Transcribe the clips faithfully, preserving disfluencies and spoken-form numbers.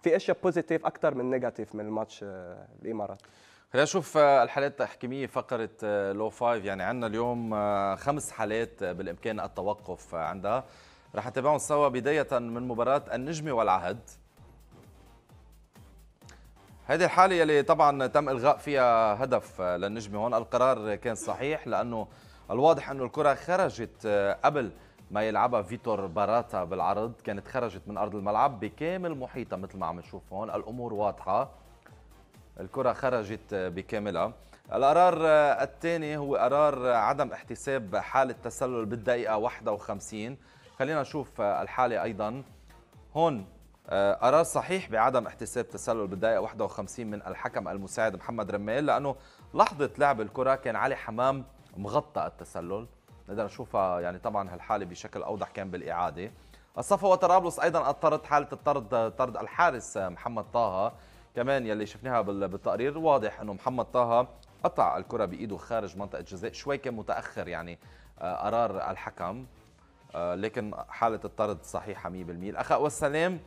في اشياء بوزيتيف اكثر من نيجاتيف من الماتش الامارات. خلينا نشوف الحالات التحكيميه فقره لو فايف. يعني عندنا اليوم خمس حالات بالامكان التوقف عندها، رح نتابعهم سوا بدايه من مباراه النجمه والعهد. هذه الحالة يلي طبعا تم إلغاء فيها هدف للنجمة. هون القرار كان صحيح لأنه الواضح أنه الكرة خرجت قبل ما يلعبها فيتور باراتا بالعرض، كانت خرجت من أرض الملعب بكامل محيطها مثل ما عم نشوف هون، الأمور واضحة، الكرة خرجت بكاملها. القرار الثاني هو قرار عدم احتساب حالة تسلل بالدقيقة واحد وخمسين. خلينا نشوف الحالة أيضا هون. قرار صحيح بعدم احتساب تسلل بالدقيقة واحد وخمسين من الحكم المساعد محمد رمال، لأنه لحظة لعب الكرة كان علي حمام مغطى التسلل. نقدر نشوفها يعني طبعا هالحالة بشكل أوضح كان بالإعادة. الصفا وطرابلس أيضا اضطرت حالة الطرد، طرد الحارس محمد طه كمان يلي شفناها بالتقرير. واضح أنه محمد طه قطع الكرة بإيده خارج منطقة جزاء، شوي كان متأخر يعني قرار الحكم، لكن حالة الطرد صحيحة مية بالمية. الأخاء والسلام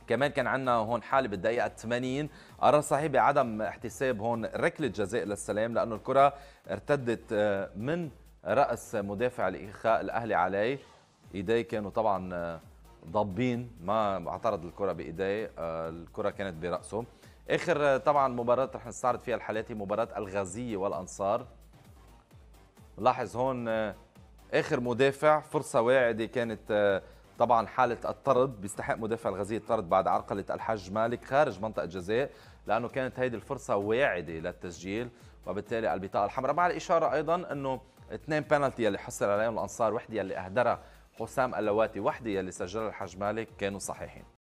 كمان كان عندنا هون حالة بالدقيقة ثمانين، قرار صحيح بعدم احتساب هون ركلة جزاء للسلام، لأنه الكرة ارتدت من رأس مدافع الإخاء الأهلي عليه، إيديه كانوا طبعا ضابين، ما اعترض الكرة بإيديه، الكرة كانت برأسه. آخر طبعا مباراة رح نستعرض فيها الحالات هي مباراة الغازية والأنصار. لاحظ هون آخر مدافع فرصة واعدة كانت طبعا حالة الطرد، بيستحق مدافع الغازية الطرد بعد عرقلة الحج مالك خارج منطقة جزاء، لأنه كانت هيدي الفرصة واعدة للتسجيل، وبالتالي البطاقة الحمراء. مع الإشارة أيضا أنه اثنين بينالتي يلي حصل عليهم الأنصار، وحدة يلي أهدرها حسام اللواتي، وحدة يلي سجلها الحج مالك، كانوا صحيحين.